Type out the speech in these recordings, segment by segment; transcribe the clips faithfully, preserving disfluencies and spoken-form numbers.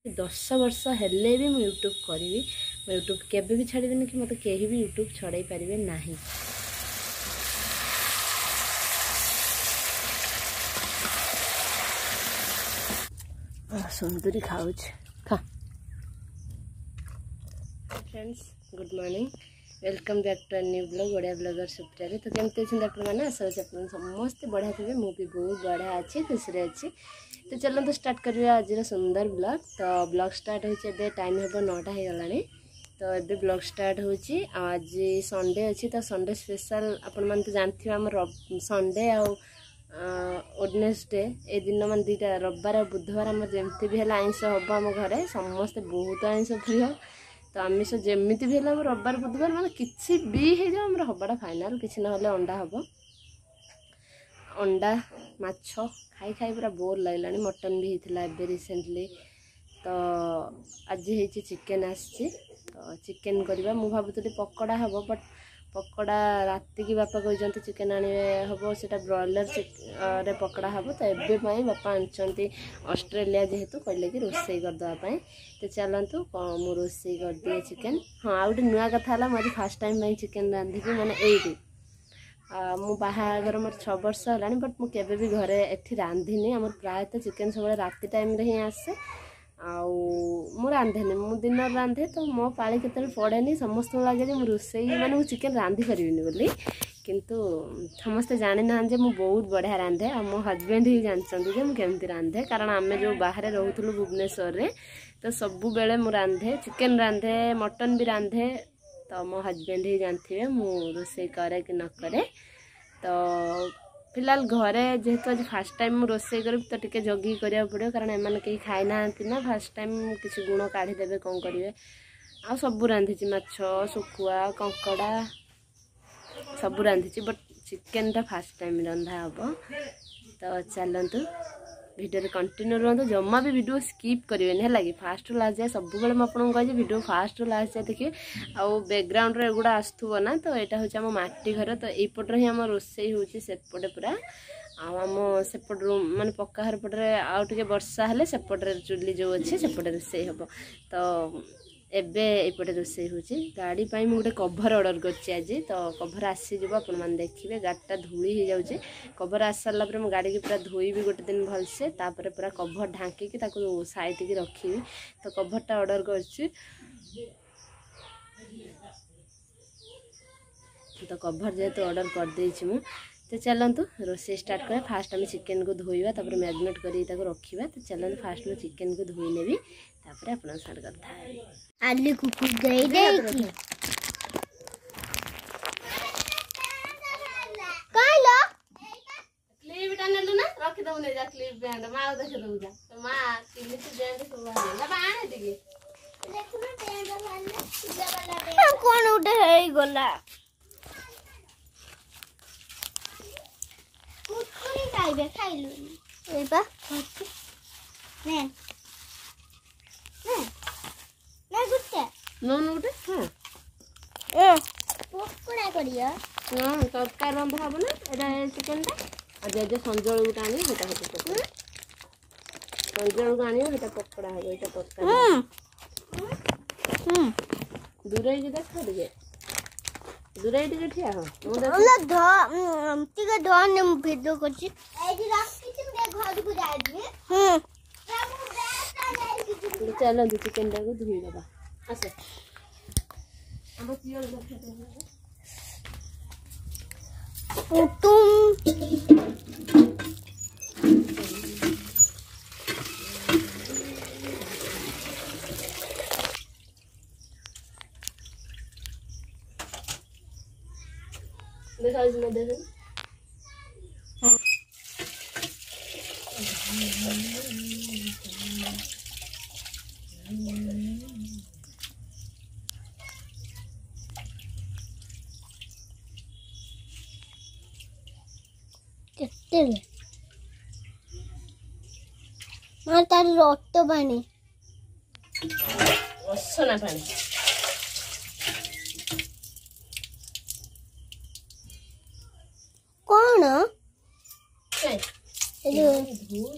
ଦଶ ବର୍ଷ ହେଲେ ବି ମୁଁ ୟୁଟ୍ୟୁବ୍ କରିବି। ମୁଁ ୟୁଟ୍ୟୁବ୍ କେବେ ବି ଛାଡ଼ିବିନି କି ମୋତେ କେହି ବି ୟୁଟ୍ୟୁବ୍ ଛଡ଼େଇ ପାରିବେ ନାହିଁ। ସୁନ୍ଦରୀ ଖାଉଛି, ଖା। Friends, good morning, welcome back to new blog Odia blogger ସୁପ୍ରିୟାରେ। ତ କେମିତି ଅଛନ୍ତି ଆପଣମାନେ? ଆଶା କରୁଛି ଆପଣ ସମସ୍ତେ ବଢ଼ିଆ ଥିବେ। ମୁଁ ବି ବହୁତ ବଢ଼ିଆ ଅଛି, ଖୁସିରେ ଅଛି। ତ ଚାଲନ୍ତୁ ଷ୍ଟାର୍ଟ କରିବା ଆଜିର ସୁନ୍ଦର ବ୍ଲଗ୍। ତ ବ୍ଲଗ୍ ଷ୍ଟାର୍ଟ ହେଉଛି ଏବେ, ଟାଇମ୍ ହେବ ନଅଟା ହେଇଗଲାଣି। ତ ଏବେ ବ୍ଲଗ୍ ଷ୍ଟାର୍ଟ ହେଉଛି ଆଉ ଆଜି ସଣ୍ଡେ ଅଛି, ତ ସଣ୍ଡେ ସ୍ପେଶାଲ୍ ଆପଣମାନେ ତ ଜାଣିଥିବେ। ଆମର ସଣ୍ଡେ ଆଉ ୱେଡ଼ନେସଡେ ଏ ଦିନ, ମାନେ ଦୁଇଟା ରବିବାର ଆଉ ବୁଧବାର, ଆମର ଯେମିତି ବି ହେଲେ ଆଇଁଷ ହେବ। ଆମ ଘରେ ସମସ୍ତେ ବହୁତ ଆଇଁଷ ପ୍ରିୟ, ତ ଆମିଷ ଯେମିତି ବି ହେଲେ ଆମ ରବିବାର ବୁଧବାର ମାନେ କିଛି ବି ହେଇଯାଉ ଆମର ହେବାଟା ଫାଇନାଲ୍। କିଛି ନହେଲେ ଅଣ୍ଡା ହେବ, ଅଣ୍ଡା ମାଛ ଖାଇ ଖାଇ ପୁରା ବୋର୍ ଲାଗିଲାଣି। ମଟନ୍ ବି ହେଇଥିଲା ଏବେ ରିସେଣ୍ଟଲି, ତ ଆଜି ହେଇଛି ଚିକେନ୍ ଆସିଛି, ତ ଚିକେନ୍ କରିବା। ମୁଁ ଭାବୁଥିଲି ପକୋଡ଼ା ହେବ, ବଟ୍ ପକୋଡ଼ା ରାତିକି ବାପା କହିଛନ୍ତି ଚିକେନ୍ ଆଣିବେ ହେବ, ସେଇଟା ବ୍ରଏଲର୍ରେ ପକୋଡ଼ା ହେବ। ତ ଏବେ ପାଇଁ ବାପା ଆଣିଛନ୍ତି ଅଷ୍ଟ୍ରେଲିଆ, ଯେହେତୁ କହିଲେ କି ରୋଷେଇ କରିଦେବା ପାଇଁ। ତ ଚାଲନ୍ତୁ ମୁଁ ରୋଷେଇ କରିଦିଏ ଚିକେନ୍। ହଁ, ଆଉ ଗୋଟେ ନୂଆ କଥା ହେଲା, ମୁଁ ଆଜି ଫାର୍ଷ୍ଟ ଟାଇମ୍ ପାଇଁ ଚିକେନ୍ ରାନ୍ଧିବି। ମାନେ ଏଇଠି ମୁଁ ବାହାଘର ମୋର ଛଅ ବର୍ଷ ହେଲାଣି, ବଟ୍ ମୁଁ କେବେ ବି ଘରେ ଏଠି ରାନ୍ଧିନି। ଆମର ପ୍ରାୟତଃ ଚିକେନ୍ ସବୁବେଳେ ରାତି ଟାଇମ୍ରେ ହିଁ ଆସେ ଆଉ ମୁଁ ରାନ୍ଧେନି, ମୁଁ ଦିନରେ ରାନ୍ଧେ। ତ ମୋ ପାଳି କେତେବେଳେ ପଡ଼େନି। ସମସ୍ତଙ୍କୁ ଲାଗେ ଯେ ମୁଁ ରୋଷେଇ ମାନେ ମୁଁ ଚିକେନ୍ ରାନ୍ଧି ପାରିବିନି ବୋଲି, କିନ୍ତୁ ସମସ୍ତେ ଜାଣିନାହାନ୍ତି ଯେ ମୁଁ ବହୁତ ବଢ଼ିଆ ରାନ୍ଧେ। ଆଉ ମୋ ହଜବେଣ୍ଡ ହିଁ ଜାଣିଛନ୍ତି ଯେ ମୁଁ କେମିତି ରାନ୍ଧେ, କାରଣ ଆମେ ଯେଉଁ ବାହାରେ ରହୁଥିଲୁ ଭୁବନେଶ୍ୱରରେ, ତ ସବୁବେଳେ ମୁଁ ରାନ୍ଧେ, ଚିକେନ୍ ରାନ୍ଧେ, ମଟନ୍ ବି ରାନ୍ଧେ। ତ ମୋ ହଜବେଣ୍ଡ ହିଁ ଜାଣିଥିବେ ମୁଁ ରୋଷେଇ କରେ କି ନ କରେ। ତ ଫିଲହାଲ ଘରେ ଯେହେତୁ ଆଜି ଫାର୍ଷ୍ଟ ଟାଇମ୍ ମୁଁ ରୋଷେଇ କରିବି, ତ ଟିକେ ଜଗିକି କରିବାକୁ ପଡ଼ିବ, କାରଣ ଏମାନେ କେହି ଖାଇନାହାନ୍ତି ନା, ଫାର୍ଷ୍ଟ ଟାଇମ୍ କିଛି ଗୁଣ କାଢ଼ିଦେବେ, କ'ଣ କରିବେ। ଆଉ ସବୁ ରାନ୍ଧିଛି, ମାଛ, ଶୁଖୁଆ, କଙ୍କଡ଼ା ସବୁ ରାନ୍ଧିଛି, ବଟ୍ ଚିକେନଟା ଫାର୍ଷ୍ଟ ଟାଇମ୍ ରନ୍ଧା ହେବ। ତ ଚାଲନ୍ତୁ ଭିଡ଼ିଓରେ କଣ୍ଟିନ୍ୟୁ ରୁହନ୍ତୁ, ଜମା ବି ଭିଡ଼ିଓ ସ୍କିପ୍ କରିବେନି, ହେଲା କି? ଫାଷ୍ଟରୁ ଲାଷ୍ଟ ଯାଏ। ସବୁବେଳେ ମୁଁ ଆପଣଙ୍କୁ କହିଛି ଭିଡ଼ିଓ ଫାଷ୍ଟରୁ ଲାଷ୍ଟ ଯାଏ ଦେଖିବେ। ଆଉ ବ୍ୟାକଗ୍ରାଉଣ୍ଡରେ ଏଗୁଡ଼ା ଆସୁଥିବ ନା, ତ ଏଇଟା ହେଉଛି ଆମ ମାଟି ଘର, ତ ଏଇପଟରେ ହିଁ ଆମ ରୋଷେଇ ହେଉଛି ସେପଟେ ପୁରା। ଆଉ ଆମ ସେପଟ ରୁମ୍ ମାନେ ପକ୍କା ଘର ପଟରେ ଆଉ ଟିକେ ବର୍ଷା ହେଲେ ସେପଟରେ ଚୁଲି ଯେଉଁ ଅଛି ସେପଟେ ରୋଷେଇ ହେବ। ତ ଏବେ ଏପଟେ ରୋଷେଇ ହେଉଛି। ଗାଡ଼ି ପାଇଁ ମୁଁ ଗୋଟେ କଭର୍ ଅର୍ଡ଼ର କରିଛି ଆଜି, ତ କଭର୍ ଆସିଯିବ, ଆପଣମାନେ ଦେଖିବେ। ଗାଡ଼ିଟା ଧୂଳି ହେଇଯାଉଛି। କଭର୍ ଆସି ସାରିଲା ପରେ ମୁଁ ଗାଡ଼ିକି ପୁରା ଧୋଇବି ଗୋଟେ ଦିନ ଭଲସେ, ତାପରେ ପୁରା କଭର୍ ଢାଙ୍କିକି ତାକୁ ସାଇତିକି ରଖିବି। ତ କଭର୍ଟା ଅର୍ଡ଼ର କରିଛି, ତ କଭର୍ ଯେହେତୁ ଅର୍ଡ଼ର କରିଦେଇଛି ମୁଁ, ତ ଚାଲନ୍ତୁ ରୋଷେଇ ଷ୍ଟାର୍ଟ କରିବା। ଫାଷ୍ଟ ଆମେ ଚିକେନକୁ ଧୋଇବା, ତାପରେ ମ୍ୟାରିନେଟ୍ କରିକି ତାକୁ ରଖିବା। ତ ଚାଲନ୍ତୁ ଫାଷ୍ଟ ମୁଁ ଚିକେନକୁ ଧୋଇ ନେବି, ତାପରେ ଆପଣଙ୍କ ସାଙ୍ଗରେ କଥା ହେବି। ଆଲି କୁକୁର ଦେଇ ଦେଇକି କହିଲ କ୍ଲିପଟା ନେଲୁ ନା? ରଖିଦବୁ, ନେଇ ଯା କ୍ଲିପ୍ ବ୍ୟାଣ୍ଡ। ମା ଆଉ ଦେଖିଦବୁ, ଯା ମା କେମିତି ବ୍ୟାଣ୍ଡ ସବୁ ବାହାରିଲା, ଆଣେ ଟିକେ। କଣ ଗୋଟେ ହେଇଗଲା? କୁରକୁରି ଖାଇବେ, ଖାଇଲୁନି? ଏଇ ନେ ନେ ନେ ଗୋଟେ ନଉନୁ ଗୋଟେ। ହଁ, ଏ ପକୋଡ଼ା କରିବ? ହଁ, ତରକାରୀ ରନ୍ଧା ହବ ନା ଏଇଟା ଚିକେନଟା। ଆଉ ଜେଜେ ସଞ୍ଜବେଳକୁ ଗୋଟେ ଆଣିବ, ସେଇଟା ହବ ପକୋଡ଼ା। ସଞ୍ଜବେଳକୁ ଆଣିବ, ସେଇଟା ପକୋଡ଼ା ହବ, ଏଇଟା ତରକାରୀ। ଦୂରେଇକି ଦେଖ ଟିକେ, ଦୂରେଇ ଟିକେ ଠିଆ ହ। ଟିକେ ଧନେ, ମୁଁ ଭିଡ଼ିଓ କରୁଛି। ଘରକୁ ଯାଉଛି। ଚାଲନ୍ତୁ ଚିକେନଟାକୁ ଧୋଇଦେବା। ଆସ ଆମ ପିଅଳ। ପୁଟୁମ୍ ଦେଖାଯାଉଛି ନା? ଦେଖ, କେତେ ମାନେ ତାର ରକ୍ତ ପାଣି, ଅସନା ପାଣି। କଣ କାଇଁ? ଏ ଯୋଉ ଧୋଇ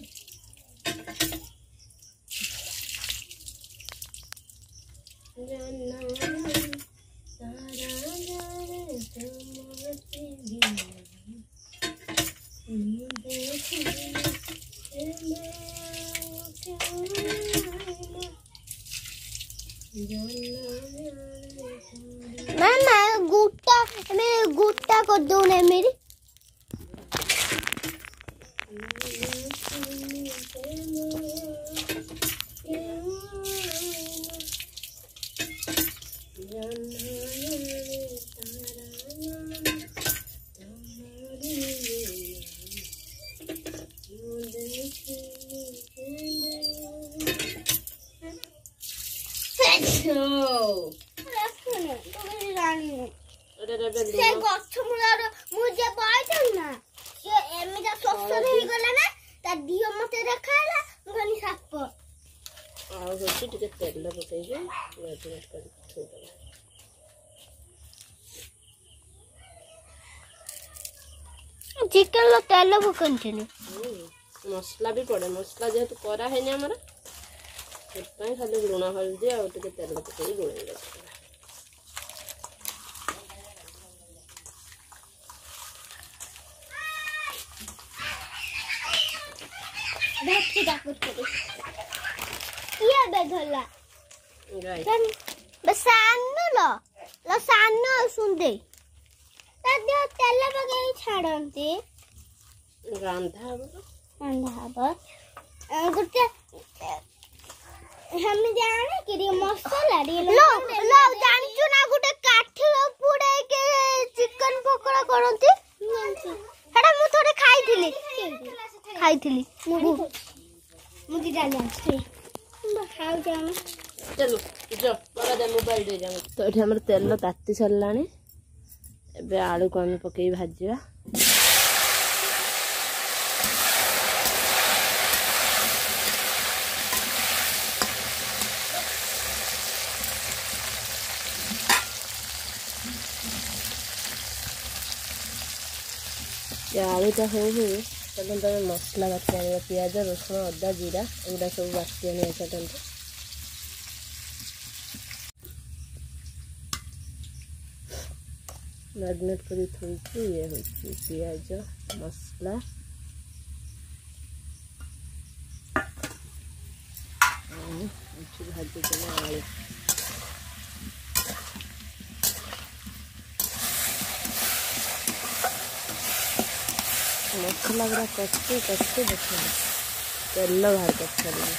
ଜହ୍ନ ତାରା ଜାଣେ ତୁମରି ବିନା। ମୁଁ ଦେଖିଲି ପ୍ରେମ କେଉଁ ଆଇନା। ଜହ୍ନ ଜାଣେ ତାରା। ମାମା, ଗୋଟା ଆମେ ଗୋଟା କରିଦଉନ ଏମିତି। ମୁଁ ଦେଖିଲି ପ୍ରେମ କେଉଁ ଆଇନା। ଜହ୍ନ ଜାଣେ ତାରା ଜାଣେ ତୁମରି ବିନା। ମୁଁ ଦେଖିଲି କେବେ। ରଖୁନି, ତୁ କିଛି ଜାଣିନୁ। ଏଟା ଏବେ ସେ ଲୁଣ। ଗଛ ମୂଳର ମୁଁ ଯେ ବଇଥିଲି ନା, ସେ ଏମିତି ଶୋଷ ହେଇଗଲା ନା, ତା ଦିହ ମତେ ଦେଖାହେଲା, ମୁଁ କହିଲି ସାପ। ଆଉ ହଉଛି ଟିକେ ତେଲ ପକେଇକି ମ୍ୟାରିନେଟ୍ କରିକି ଥୋଇଦେବା। ଚିକେନ ତେଲ ପକାନ୍ତିନି। ହୁଁ, ମସଲା ବି ପଡେ। ମସଲା ଯେହେତୁ କରା ହେଇନି ଆମର, ସେଥିପାଇଁ ଖାଲି ଲୁଣ, ହଳଦୀ ଆଉ ଟିକେ ତେଲ ପକେଇକି ଗୋଳେଇ ରଖିଦେବା। ଧରଛି ଡାକୁଥିଲି, କିଏ ଏବେ ଧରିଲା? ଗାଈ। ସାନ ଲ ଲ ସାନ ସୁନ୍ଦେଇ ତା ଦେହ ତେଲ ପକେଇକି ଛାଡ଼ନ୍ତି। ରନ୍ଧା ହବ ତ। ରନ୍ଧା ହବ ଗୋଟେ ସେମିତି ଆଣିକି ଟିକେ ମସଲା ଟିକେ। ଜାଣିଛୁ ନା, ଗୋଟେ କାଠିର ପୁଡେଇକି ଚିକେନ ପକୋଡା କରନ୍ତି? ସେଟା ମୁଁ ଥରେ ଖାଇଥିଲି ଖାଇଥିଲି ମୁଁ। ମୁଁ ଦିଟା ଜାଣିଛି, ଖାଉଛି ଆମେ। ଚାଲୁ ଯ ବାବା, ଦେ ମୋବାଇଲ ଦେଇ ଯାଉ। ତ ଏଠି ଆମର ତେଲ ତାତି ସାରିଲାଣି। ଏବେ ଆଳୁକୁ ଆମେ ପକେଇ ଭାଜିବା। ଏ ଆଳୁଟା ହଉ ହଉ ଚାଲନ୍ତୁ ଆମେ ମସଲା ବାଟି ଆଣିବା। ପିଆଜ, ରସୁଣ, ଅଦା, ଜିରା ଏଗୁଡ଼ା ସବୁ ବାଟି ଆଣିବା। ଚାଲନ୍ତୁ। ମ୍ୟାରିନେଟ୍ କରି ଥୋଇଛି। ଇଏ ହେଉଛି ପିଆଜ, ମସଲା ଆଉ ଏଠି ଭାଜିଦେବା ଆଳୁ। ମସଲା ଗୁଡ଼ା କଷି କଷି ଦେଖନ୍ତୁ ତେଲ ବାହାର କରିସାରିଲାଣି।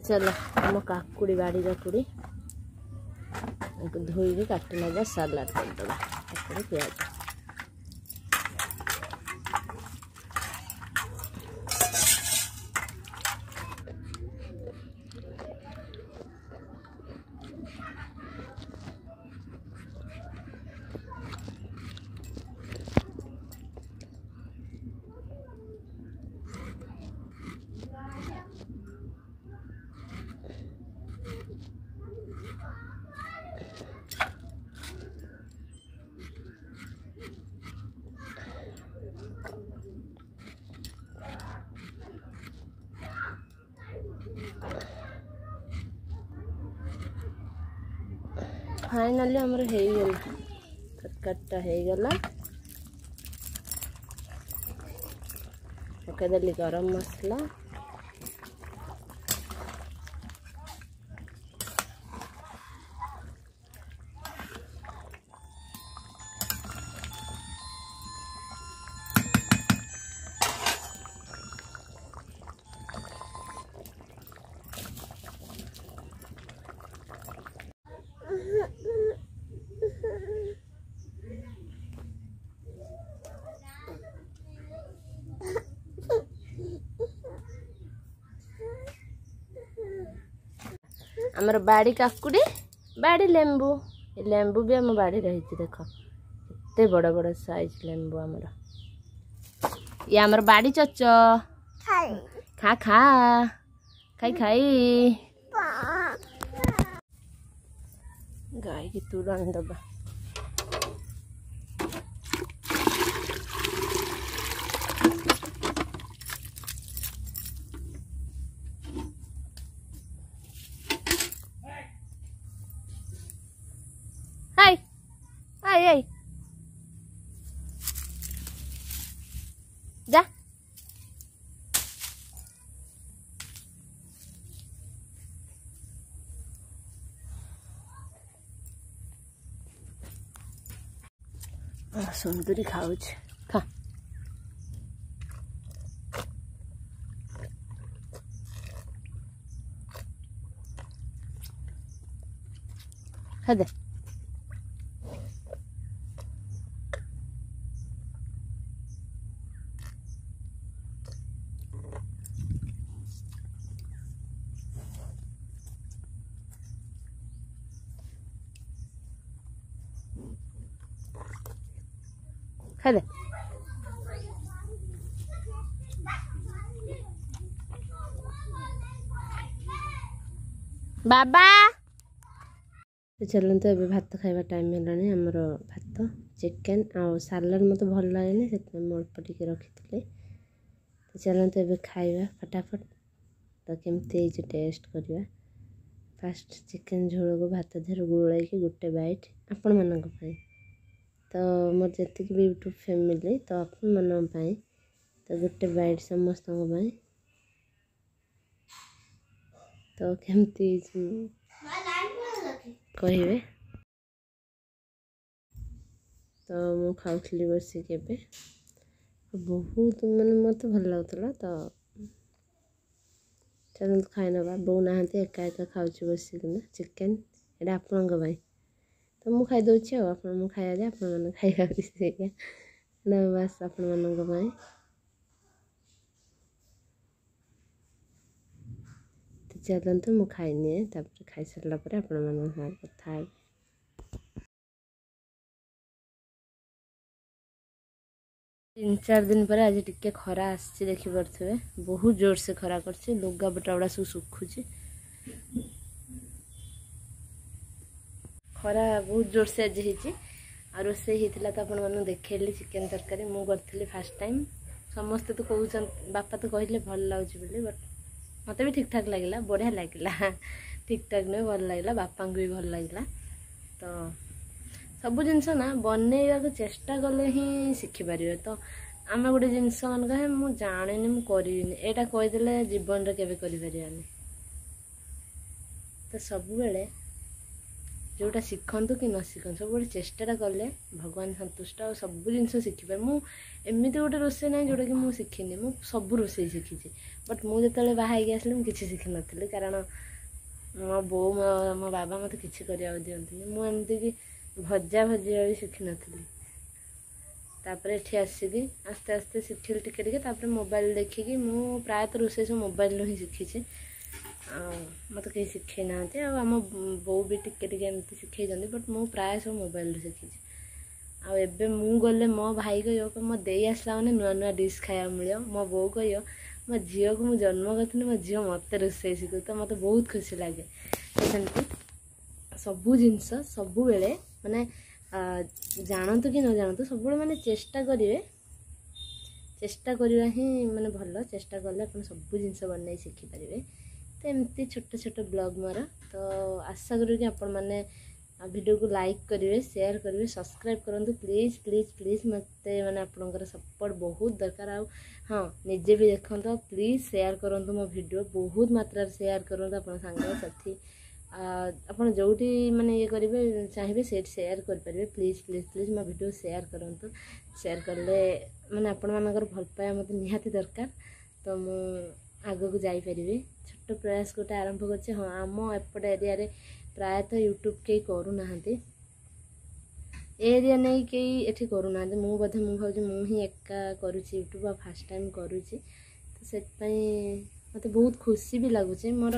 ଚାଲ ଆମ କାକୁଡ଼ି, ବାଡ଼ି କାକୁଡ଼ି ଧୋଇକି କାଟି ନେବା, ସାଲାଡ଼ କରିଦେବା କାକୁଡ଼ି ପିଆଜ। ଫାଇନାଲି ଆମର ହେଇଗଲା, ତରକାରୀଟା ହେଇଗଲା। ପକେଇଦେଲି ଗରମ ମସଲା। ଆମର ବାଡ଼ି କାକୁଡ଼ି, ବାଡ଼ି ଲେମ୍ବୁ, ଏ ଲେମ୍ବୁ ବି ଆମ ବାଡ଼ିରେ ହେଇଛି। ଦେଖ କେତେ ବଡ଼ ବଡ଼ ସାଇଜ ଲେମ୍ବୁ ଆମର। ଇଏ ଆମର ବାଡ଼ି ଚଚ, ଖା ଖା ଖାଇ ଖାଇ। ଗାଈକି ତୁରାଣି ଦବା। ହାଇ ହାଇ ହାଇ, ଯା। ସୁନ୍ଦରୀ ଖାଉଛି, ଖା। ଖାଇଦେ, ଖାଇଦେ। ବାବା, ଚାଲନ୍ତୁ ଏବେ ଭାତ ଖାଇବା ଟାଇମ୍ ହେଲାଣି। ଆମର ଭାତ, ଚିକେନ୍ ଆଉ ସାଲାଡ଼ ମୋତେ ଭଲ ଲାଗେନି, ସେଥିପାଇଁ ମୁଁ ଅଳ୍ପ ଟିକେ ରଖିଥିଲି। ତ ଚାଲନ୍ତୁ ଏବେ ଖାଇବା ଫଟାଫଟ। ତ କେମିତି ହେଇଛି ଟେଷ୍ଟ କରିବା। ଫାଷ୍ଟ ଚିକେନ୍ ଝୋଳକୁ ଭାତ ଦେହରେ ଗୋଳେଇକି ଗୋଟେ ବାଇଟ୍ ଆପଣମାନଙ୍କ ପାଇଁ। ତ ମୋର ଯେତିକି ବି ୟୁଟ୍ୟୁବ୍ ଫ୍ୟାମିଲି, ତ ଆପଣମାନଙ୍କ ପାଇଁ ତ ଗୋଟେ ବାଇଟ୍ ସମସ୍ତଙ୍କ ପାଇଁ। ତ କେମିତି ହେଇଛି କହିବେ। ତ ମୁଁ ଖାଉଥିଲି ବସିକି ଏବେ, ବହୁତ ମାନେ ମୋତେ ଭଲ ଲାଗୁଥିଲା। ତ ଚାଲନ୍ତୁ ଖାଇନେବା। ବୋଉ ନାହାନ୍ତି, ଏକା ଏକା ଖାଉଛି ବସିକିନା ଚିକେନ୍। ଏଇଟା ଆପଣଙ୍କ ପାଇଁ, ତ ମୁଁ ଖାଇଦେଉଛି ଆଉ ଆପଣ ମୁଁ ଖାଇବା ଯେ ଆପଣମାନେ ଖାଇବା ବି ସେଇଆ ନା, ବାସ୍ ଆପଣମାନଙ୍କ ପାଇଁ। ତ ଚାଲନ୍ତୁ ମୁଁ ଖାଇନିଏ, ତାପରେ ଖାଇସାରିଲା ପରେ ଆପଣମାନଙ୍କ ସାଙ୍ଗରେ କଥା ହେବି। ତିନି ଚାରି ଦିନ ପରେ ଆଜି ଟିକେ ଖରା ଆସିଛି, ଦେଖିପାରୁଥିବେ ବହୁତ ଜୋରସେ ଖରା କରିଛି। ଲୁଗାପଟା ଗୁଡ଼ା ସବୁ ଶୁଖୁଛି। ଖରା ବହୁତ ଜୋରସେ ଆଜି ହେଇଛି। ଆଉ ରୋଷେଇ ହେଇଥିଲା ତ ଆପଣମାନଙ୍କୁ ଦେଖେଇଲି, ଚିକେନ୍ ତରକାରୀ ମୁଁ କରିଥିଲି ଫାର୍ଷ୍ଟ ଟାଇମ୍। ସମସ୍ତେ ତ କହୁଛନ୍ତି, ବାପା ତ କହିଲେ ଭଲ ଲାଗୁଛି ବୋଲି, ବଟ୍ ମୋତେ ବି ଠିକ୍ ଠାକ୍ ଲାଗିଲା, ବଢ଼ିଆ ଲାଗିଲା। ଠିକ୍ ଠାକ୍ ନୁହେଁ, ଭଲ ଲାଗିଲା, ବାପାଙ୍କୁ ବି ଭଲ ଲାଗିଲା। ତ ସବୁ ଜିନିଷ ନା ବନେଇବାକୁ ଚେଷ୍ଟା କଲେ ହିଁ ଶିଖିପାରିବେ। ତ ଆମେ ଗୋଟେ ଜିନିଷ ମାନେ କହେ ମୁଁ ଜାଣିନି, ମୁଁ କରିବିନି, ଏଇଟା କହିଦେଲେ ଜୀବନରେ କେବେ କରିପାରିବାନି। ତ ସବୁବେଳେ ଯେଉଁଟା ଶିଖନ୍ତୁ କି ନ ଶିଖନ୍ତୁ, ସବୁବେଳେ ଚେଷ୍ଟାଟା କଲେ ଭଗବାନ ସନ୍ତୁଷ୍ଟ, ଆଉ ସବୁ ଜିନିଷ ଶିଖିପାରେ। ମୁଁ ଏମିତି ଗୋଟେ ରୋଷେଇ ନାହିଁ ଯେଉଁଟାକି ମୁଁ ଶିଖିନି, ମୁଁ ସବୁ ରୋଷେଇ ଶିଖିଛି। ବଟ୍ ମୁଁ ଯେତେବେଳେ ବାହା ହେଇକି ଆସିଲି ମୁଁ କିଛି ଶିଖିନଥିଲି, କାରଣ ମୋ ବୋଉ ମୋ ମୋ ବାବା ମୋତେ କିଛି କରିବାକୁ ଦିଅନ୍ତିନି। ମୁଁ ଏମିତିକି ଭଜା ଭଜିବା ବି ଶିଖିନଥିଲି। ତାପରେ ଏଠି ଆସିକି ଆସ୍ତେ ଆସ୍ତେ ଶିଖିଲି ଟିକେ ଟିକେ। ତାପରେ ମୋବାଇଲ ଦେଖିକି ମୁଁ ପ୍ରାୟତଃ ରୋଷେଇ ସବୁ ମୋବାଇଲରୁ ହିଁ ଶିଖିଛି, ଆଉ ମୋତେ କେହି ଶିଖେଇ ନାହାନ୍ତି। ଆଉ ଆମ ବୋଉ ବି ଟିକେ ଟିକେ ଏମିତି ଶିଖେଇଛନ୍ତି, ବଟ୍ ମୁଁ ପ୍ରାୟ ସବୁ ମୋବାଇଲରୁ ଶିଖିଛି। ଆଉ ଏବେ ମୁଁ ଗଲେ ମୋ ଭାଇ କହିବ, ମୋ ଦେଇ ଆସିଲା ମାନେ ନୂଆ ନୂଆ ଡିସ୍ ଖାଇବାକୁ ମିଳିବ। ମୋ ବୋଉ କହିବ, ମୋ ଝିଅକୁ ମୁଁ ଜନ୍ମ କରିଥିଲି, ମୋ ଝିଅ ମୋତେ ରୋଷେଇ ଶିଖୁ, ତ ମୋତେ ବହୁତ ଖୁସି ଲାଗେ। ତ ସେମିତି ସବୁ ଜିନିଷ ସବୁବେଳେ ମାନେ ଜାଣନ୍ତୁ କି ନ ଜାଣନ୍ତୁ, ସବୁବେଳେ ମାନେ ଚେଷ୍ଟା କରିବେ। ଚେଷ୍ଟା କରିବା ହିଁ ମାନେ ଭଲ, ଚେଷ୍ଟା କଲେ ଆପଣ ସବୁ ଜିନିଷ ବନେଇ ଶିଖିପାରିବେ। ତ ଏମିତି ଛୋଟ ଛୋଟ ବ୍ଲଗ୍ ମୋର। ତ ଆଶା କରିବି କି ଆପଣମାନେ ଭିଡ଼ିଓକୁ ଲାଇକ୍ କରିବେ, ସେୟାର କରିବେ, ସବସ୍କ୍ରାଇବ୍ କରନ୍ତୁ। ପ୍ଲିଜ୍ ପ୍ଲିଜ୍ ପ୍ଲିଜ୍, ମୋତେ ମାନେ ଆପଣଙ୍କର ସପୋର୍ଟ ବହୁତ ଦରକାର। ଆଉ ହଁ, ନିଜେ ବି ଦେଖନ୍ତୁ, ଆଉ ପ୍ଲିଜ୍ ସେୟାର କରନ୍ତୁ ମୋ ଭିଡ଼ିଓ, ବହୁତ ମାତ୍ରାରେ ସେୟାର କରନ୍ତୁ। ଆପଣ ସାଙ୍ଗସାଥି, ଆପଣ ଯେଉଁଠି ମାନେ ଇଏ କରିବେ ଚାହିଁବେ, ସେଇଠି ସେୟାର କରିପାରିବେ। ପ୍ଲିଜ୍ ପ୍ଲିଜ୍ ପ୍ଲିଜ୍ ମୋ ଭିଡ଼ିଓ ସେୟାର କରନ୍ତୁ। ସେୟାର କଲେ ମାନେ ଆପଣମାନଙ୍କର ଭଲ ପାଇବା ମୋତେ ନିହାତି ଦରକାର, ତ ମୁଁ ଆଗକୁ ଯାଇପାରିବି। ଛୋଟ ପ୍ରୟାସ ଗୋଟେ ଆରମ୍ଭ କରିଛି। ହଁ, ଆମ ଏପଟ ଏରିଆରେ ପ୍ରାୟତଃ ୟୁଟ୍ୟୁବ୍ କେହି କରୁନାହାନ୍ତି, ଏ ଏରିଆ ନେଇ କେହି ଏଠି କରୁନାହାନ୍ତି। ମୁଁ ବୋଧେ, ମୁଁ ଭାବୁଛି ମୁଁ ହିଁ ଏକା କରୁଛି ୟୁଟ୍ୟୁବ୍, ଆଉ ଫାର୍ଷ୍ଟ ଟାଇମ୍ କରୁଛି, ତ ସେଥିପାଇଁ ମୋତେ ବହୁତ ଖୁସି ବି ଲାଗୁଛି। ମୋର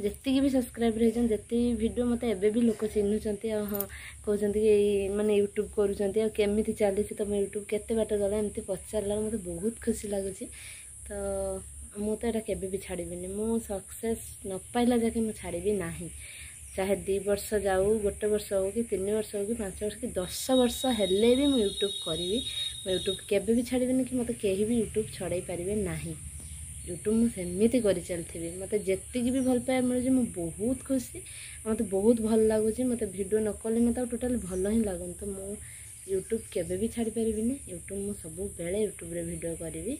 ଯେତିକି ବି ସବସ୍କ୍ରାଇବର୍ ହେଇଛନ୍ତି, ଯେତିକି ଭିଡ଼ିଓ, ମୋତେ ଏବେ ବି ଲୋକ ଚିହ୍ନୁଛନ୍ତି, ଆଉ ହଁ କହୁଛନ୍ତି କି ଏଇ ମାନେ ୟୁଟ୍ୟୁବ୍ କରୁଛନ୍ତି, ଆଉ କେମିତି ଚାଲିଛି ତୁମ ୟୁଟ୍ୟୁବ୍, କେତେ ବାଟ ଗଲା, ଏମିତି ପଚାରିଲା, ମୋତେ ବହୁତ ଖୁସି ଲାଗୁଛି। ତ ମୁଁ ତ ଏଇଟା କେବେ ବି ଛାଡ଼ିବିନି, ମୁଁ ସକ୍ସେସ୍ ନ ପାଇଲା ଯାକେ ମୁଁ ଛାଡ଼ିବି ନାହିଁ। ଚାହେ ଦୁଇ ବର୍ଷ ଯାଉ, ଗୋଟେ ବର୍ଷ ହଉ କି ତିନି ବର୍ଷ ହଉ କି ପାଞ୍ଚ ବର୍ଷ କି ଦଶ ବର୍ଷ ହେଲେ ବି ମୁଁ ୟୁଟ୍ୟୁବ୍ କରିବି। ମୁଁ ୟୁଟ୍ୟୁବ୍ କେବେ ବି ଛାଡ଼ିବିନି, କି ମୋତେ କେହି ବି ୟୁଟ୍ୟୁବ୍ ଛଡ଼େଇ ପାରିବେ ନାହିଁ। ୟୁଟ୍ୟୁବ୍ ମୁଁ ସେମିତି କରିଚାଲିଥିବି। ମୋତେ ଯେତିକି ବି ଭଲ ପାଇବା ମିଳୁଛି ମୁଁ ବହୁତ ଖୁସି, ମୋତେ ବହୁତ ଭଲ ଲାଗୁଛି। ମୋତେ ଭିଡ଼ିଓ ନ କଲେ ମୋତେ ଆଉ ଟୋଟାଲି ଭଲ ହିଁ ଲାଗୁନି। ତ ମୁଁ ୟୁଟ୍ୟୁବ୍ କେବେ ବି ଛାଡ଼ିପାରିବିନି, ୟୁଟ୍ୟୁବ୍ ମୁଁ ସବୁବେଳେ ୟୁଟ୍ୟୁବ୍ରେ ଭିଡ଼ିଓ କରିବି।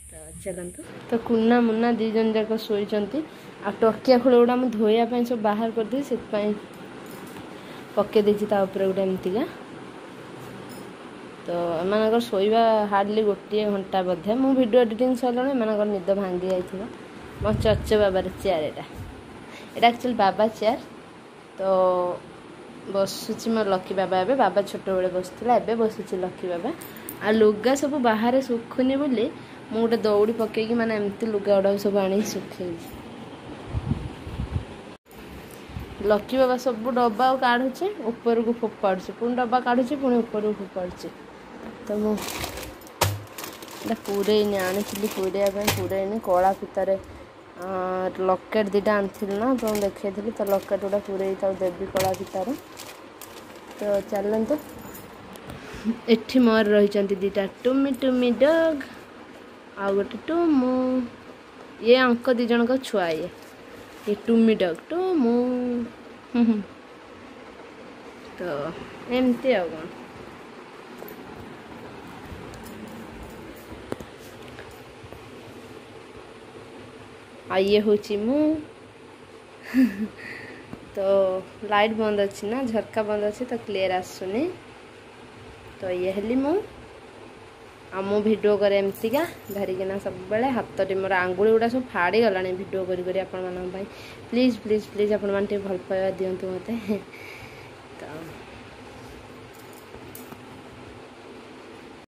ତ ଚାଲନ୍ତୁ। ତ କୁନା ମୁନା ଦୁଇ ଜଣ ଯାକ ଶୋଇଛନ୍ତି, ଆଉ ଟକିଆ ଖୋଳ ଗୁଡ଼ା ମୁଁ ଧୋଇବା ପାଇଁ ସବୁ ବାହାର କରିଦେଇଛି, ସେଥିପାଇଁ ପକେଇ ଦେଇଛି ତା ଉପରେ ଗୋଟେ ଏମିତିକା। ତ ଏମାନଙ୍କର ଶୋଇବା ହାର୍ଡ଼ଲି ଗୋଟିଏ ଘଣ୍ଟା ବୋଧେ। ମୁଁ ଭିଡ଼ିଓ ଏଡ଼ିଟିଂ ସରିଲାଣି, ଏମାନଙ୍କର ନିଦ ଭାଙ୍ଗି ଯାଇଥିବ। ମୋ ଚଚ ବାବାର ଚେୟାର ଏଇଟା, ଏଇଟା ଆକ୍ଚୁଆଲି ବାବା ଚେୟାର। ତ ବସୁଛି ମୋ ଲକି ବାବା ଏବେ। ବାବା ଛୋଟବେଳେ ବସୁଥିଲା, ଏବେ ବସୁଛି ଲକି ବାବା। ଆଉ ଲୁଗା ସବୁ ବାହାରେ ଶୁଖୁନି ବୋଲି ମୁଁ ଗୋଟେ ଦଉଡ଼ି ପକେଇକି ମାନେ ଏମିତି ଲୁଗା ଗୁଡ଼ାକ ସବୁ ଆଣିକି ଶୁଖେଇଛି। ଲକି ବାବା ସବୁ ଡବା କାଢ଼ୁଛି, ଉପରକୁ ଫୋପାଡ଼ୁଛି, ପୁଣି ଡବା କାଢ଼ୁଛି, ପୁଣି ଉପରକୁ ଫୋପାଡ଼ୁଛି। ତ ମୁଁ ଏଇଟା ପୁରେଇନି, ଆଣିଥିଲି ପୁରେଇବା ପାଇଁ, ପୁରେଇନି। କଳା ଫିତାରେ ଲକେଟ୍ ଦୁଇଟା ଆଣିଥିଲି ନା, ଆପଣଙ୍କୁ ଦେଖେଇଥିଲି, ତ ଲକେଟ୍ ଗୁଡ଼ା ପୁରେଇ ତାକୁ ଦେବି କଳା ଫିତାରେ। ତ ଚାଲନ୍ତୁ। ଏଠି ମୋର ରହିଛନ୍ତି ଦୁଇଟା ଟୁମି ଟୁମି ଡଗ୍, ଆଉ ଗୋଟେ ଟୁମୁ। ଇଏ ଆଙ୍କ ଦୁଇ ଜଣଙ୍କ ଛୁଆ, ଇଏ ଇଏ ଟୁମି ଡଗ୍ ଟୁମୁ। ତ ଏମିତି ଆଉ କ'ଣ। ଆଉ ଇଏ ହେଉଛି ମୁଁ। ତ ଲାଇଟ୍ ବନ୍ଦ ଅଛି ନା, ଝରକା ବନ୍ଦ ଅଛି, ତ କ୍ଲିୟର୍ ଆସୁନି। ତ ଇଏ ହେଲି ମୁଁ। ଆଉ ମୁଁ ଭିଡ଼ିଓ କରେ ଏମିତିକା ଧରିକିନା ସବୁବେଳେ, ହାତରେ ମୋର ଆଙ୍ଗୁଳି ଗୁଡ଼ା ସବୁ ଫାଡ଼ିଗଲାଣି ଭିଡ଼ିଓ କରି କରି ଆପଣମାନଙ୍କ ପାଇଁ। ପ୍ଲିଜ୍ ପ୍ଲିଜ୍ ପ୍ଲିଜ୍ ଆପଣମାନେ ଟିକେ ଭଲ ପାଇବା ଦିଅନ୍ତୁ ମୋତେ। ତ